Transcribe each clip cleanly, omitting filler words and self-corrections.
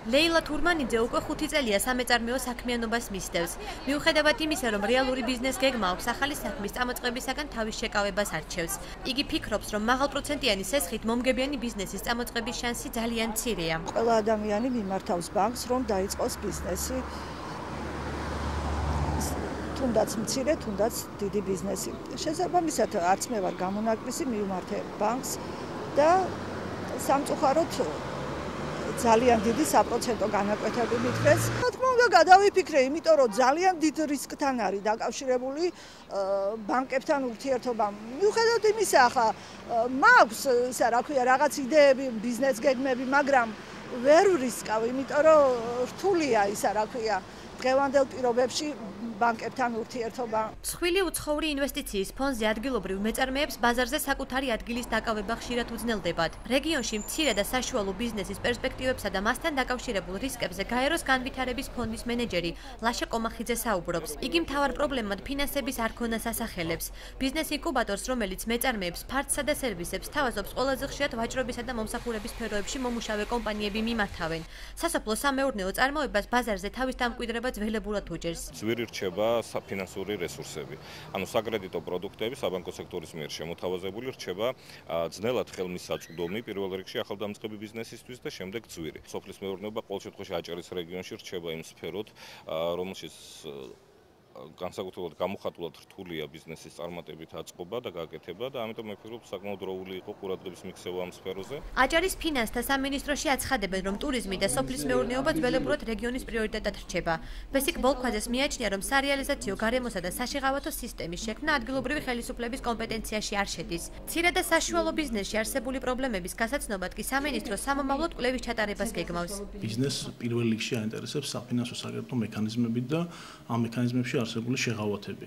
ლეილა თურმანიძე უკვე 5 წელია სამეწარმეო საქმიანობას მისდევს. მიუხედავად იმისა, რომ რეალური ბიზნეს გეგმა აქვს, ახალი საქმის წამოწყებისაგან თავის შეკავებას არჩევს. იგი ფიქრობს, რომ მაღალპროცენტიანი სესხით მომგებიანი ბიზნესის წამოწყების შანსი ძალიან მცირეა. ყველა ადამიანი მიმართავს ბანკს, რომ დაიწყოს ბიზნესი. თუნდაც მცირე, თუნდაც დიდი ბიზნესი. შესაბამისად, არც მე ვარ გამონაკლისი, მივმართე ბანკს და სამწუხაროდ ძალიან დიდი საპროცენტო განაკვეთები მითხრეს. რა თქმა უნდა, გადავიფიქრე, იმიტომ რომ ძალიან დიდ რისკთან არის დაკავშირებული ბანკებთან ურთიერთობა. მიუხედავად იმისა, ახლა მაქვს, ისა რა ქვია, რაღაც იდეები, ბიზნეს გეგმები, მაგრამ ვერ ვრისკავ, იმიტომ რომ რთულია ისა რა ქვია, დღევანდელ პირობებში ბანკებთან ურთიერთობა. მსხვილი უცხოური ინვესტიციის ფონდზე ადგილობრივ მეწარმეებს ბაზარზე საკუთარი ადგილის დაკავება ხშირად უძნელდებათ. რეგიონში მცირე და საშუალო ბიზნესის პერსპექტივებსა და მასთან დაკავშირებულ რისკებზე გაეროს განვითარების ფონდის მენეჯერი ლაშა კომახიძე საუბრობს. იგი მთავარ პრობლემად ფინანსების არქონას ასახელებს. ბიზნეს ინკუბატორს, რომელიც მეწარმეებს ფარცსა და სერვისებს თავაზობს, ყველაზე ხშირად ვაჭრობისა და მომსახურების სფეროებში მომუშავე კომპანიები მიმართავენ. სასოფლო-სამეურნეო წარმოებას ბაზარზე თავის დამკვიდრება ძველებურად უჭერს. ფინანსური რესურსები. ანუ საკრედიტო პროდუქტები საბანკო სექტორის მიერ შემოთავაზებული რჩება ძნელად ხელმისაწვდომი პირველ რიგში ახალდამწყები ბიზნესისთვის და შემდეგ ძვირი. სოფლის მეურნეობა ყოველ შემთხვევაში აჭარის რეგიონში რჩება იმ სფეროთ, რომელშიც განსაკუთრებულად გამოხატულად რთულია ბიზნესის წარმატებით აწყობა და გაკეთება და ამიტომ მე ვფიქრობ, საკმაოდ დროული იყო ყურადღების მიქცევა ამ სფეროზე. აჭარის ფინანსთა სამინისტროში აცხადებენ, რომ ტურიზმი და სოფლის მეურნეობა ძველებურად რეგიონის პრიორიტეტად რჩება. ბესიკ ბოლქვაძეს მიაჩნია, რომ სარეალიზაციო გარემოსა და საშიღავათო სისტემის შექმნა ადგილობრივი ხელისუფლების კომპეტენციაში არ შედის. მცირე და საშუალო ბიზნესში არსებული პრობლემების გასაცნობად კი სამინისტრო სამომავლოდ კვლევის ჩატარებას გეგმავს. ბიზნესს პირველ რიგში აინტერესებს საფინანსო საკრედიტო მექანიზმები და ამ მექანიზმებში არსებული შეღავათები.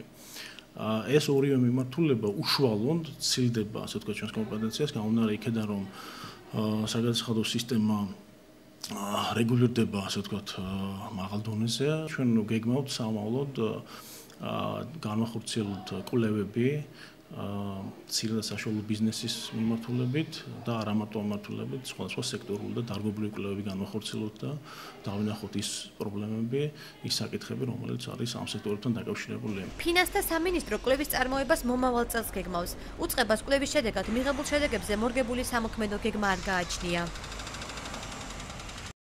ეს ორივე მიმართულება უშუალოდ ცილდება, ასე ვთქვათ, ჩვენს კომპეტენციას, გამომდინარე იქედან, რომ საგადასახადო სისტემა რეგულირდება, ასე ვთქვათ, მაღალ დონეზე. ჩვენ გეგმავთ სამომავლოდ განვახორციელოთ კვლევები მცირე და საშუალო ბიზნესის მიმართულებით და არა მარტო მიმართულებით, სხვადასხვა სექტორული და დარგობრივი კვლევები განვახორციელოთ და დავინახოთ ის პრობლემები, ის საკითხები, რომელიც არის ამ სექტორებთან დაკავშირებული. ფინანსთა სამინისტრო კვლევის წარმოებას მომავალ წელს გეგმავს. უწყებას კვლევის შედეგად მიღებულ შედეგებზე მორგებული სამოქმედო გეგმა არ გააჩნია.